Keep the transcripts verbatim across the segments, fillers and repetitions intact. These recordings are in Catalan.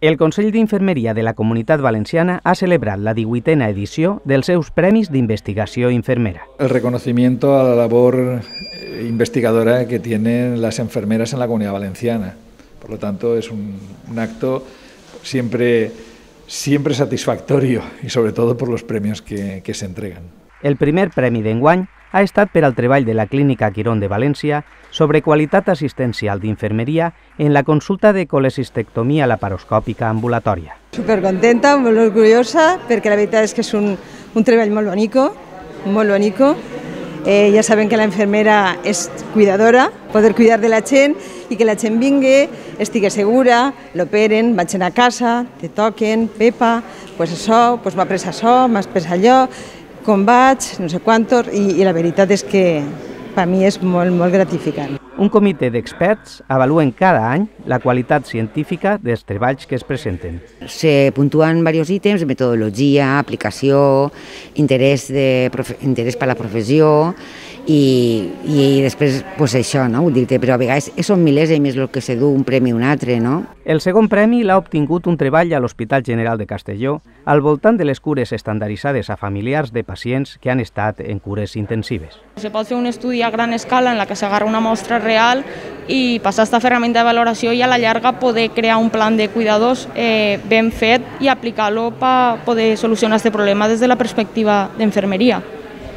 El Consell d'Infermeria de la Comunitat Valenciana ha celebrat la divuitena edició dels seus Premis d'Investigació Infermera. El reconocimiento a la labor investigadora que tienen las enfermeras en la Comunidad Valenciana. Por lo tanto, es un, un acto siempre, siempre satisfactorio y sobre todo por los premios que, que se entregan. El primer premi d'enguany ha estat per al treball de la Clínica Quirón de València sobre qualitat assistencial d'infermeria en la consulta de colecistectomia laparoscòpica ambulatòria. Supercontenta, molt orgullosa, perquè la veritat és que és un, un treball molt bonico, molt bonico. Eh, ja saben que la infermera és cuidadora, poder cuidar de la gent i que la gent vingui, estigui segura, l'operen, vagin a casa, te toquen, Pepa, pues això, pues m'ha pres això, m'has pres allò, com vaig, no sé quantos, i, i la veritat és que per mi és molt, molt gratificant. Un comitè d'experts avaluen cada any la qualitat científica dels treballs que es presenten. Se puntuen diversos ítems, metodologia, aplicació, interès, de, interès per la professió i, i després pues això, no? Vull dir-te, però a vegades són milers i més el que se du un premi a un altre, no? El segon premi l'ha obtingut un treball a l'Hospital General de Castelló al voltant de les cures estandarditzades a familiars de pacients que han estat en cures intensives. Se pot fer un estudi a gran escala en la que s'agarra una mostra real i passar aquesta ferramenta de valoració i a la llarga poder crear un plan de cuidadors eh, ben fet i aplicar-lo per poder solucionar aquest problema des de la perspectiva d'infermeria,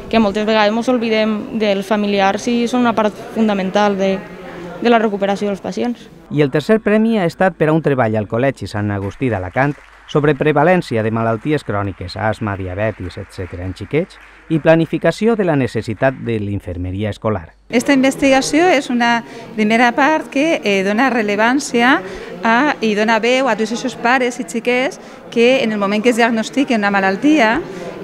que moltes vegades ens oblidem dels familiars i són una part fundamental de, de la recuperació dels pacients. I el tercer premi ha estat per a un treball al Col·legi Sant Agustí d'Alacant sobre prevalència de malalties cròniques, asma, diabetis, etcètera en xiquets i planificació de la necessitat de l'infermeria escolar. Esta investigació és una primera part que eh, dona rellevància a, i dona veu a tots aquests pares i xiquets que en el moment que es diagnostiquen una malaltia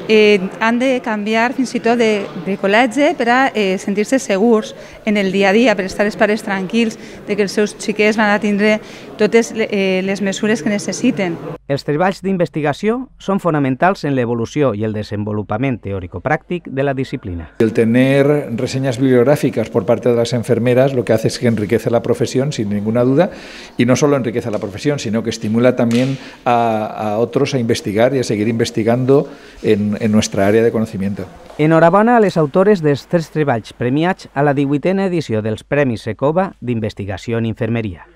eh, han de canviar fins i tot de, de col·legi per a eh, sentir-se segurs en el dia a dia, per estar els pares tranquils de que els seus xiquets van a tindre totes eh, les mesures que necessiten. Els treballs d'investigació són fonamentals en l'evolució i el desenvolupament teórico-pràctic de la disciplina. El tener reseñas bibliográficas por parte de las enfermeras lo que hace es que enriquece la profesión sin ninguna duda y no solo enriquece la profesión, sino que estimula también a, a otros a investigar y a seguir investigando en, en nuestra área de conocimiento. Enhorabona a les autores dels tres treballs premiats a la divuitena edició dels Premis Secova d'Investigació en Infermeria.